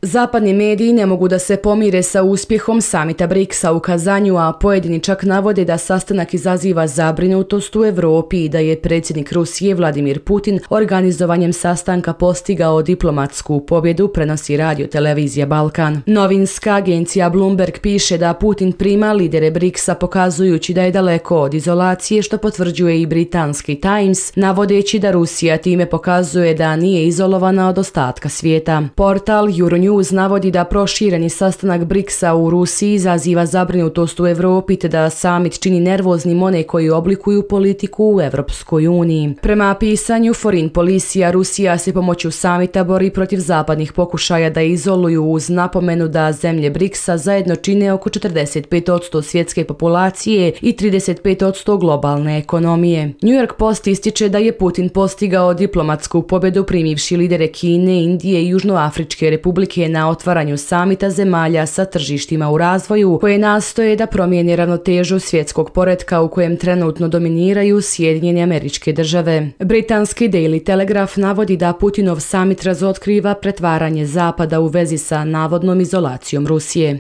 Zapadni mediji ne mogu da se pomire sa uspjehom samita BRICS-a u Kazanju, a pojedini čak navode da sastanak izaziva zabrinutost u Evropi i da je predsjednik Rusije Vladimir Putin organizovanjem sastanka postigao diplomatsku pobjedu, prenosi radio-televizija Balkan. Novinska agencija Bloomberg piše da Putin prima lidere BRICS-a pokazujući da je daleko od izolacije, što potvrđuje i britanski Times, navodeći da Rusija time pokazuje da nije izolovana od ostatka svijeta. Portal Euronews navodi da prošireni sastanak BRICS-a u Rusiji izaziva zabrinutost u Evropi te da samit čini nervoznim one koji oblikuju politiku u Evropskoj uniji. Prema pisanju Foreign Policy, Rusija se pomoću samita bori protiv zapadnih pokušaja da izoluju, uz napomenu da zemlje BRICS-a zajedno čine oko 45% svjetske populacije i 35% globalne ekonomije. New York Post ističe da je Putin postigao diplomatsku pobjedu primivši lidere Kine, Indije i Južnoafričke republike na otvaranju samita zemalja sa tržištima u razvoju, koje nastoje da promijene ravnotežu svjetskog poretka u kojem trenutno dominiraju Sjedinjene Američke Države. Britanski Daily Telegraph navodi da Putinov samit razotkriva pretvaranje Zapada u vezi sa navodnom izolacijom Rusije.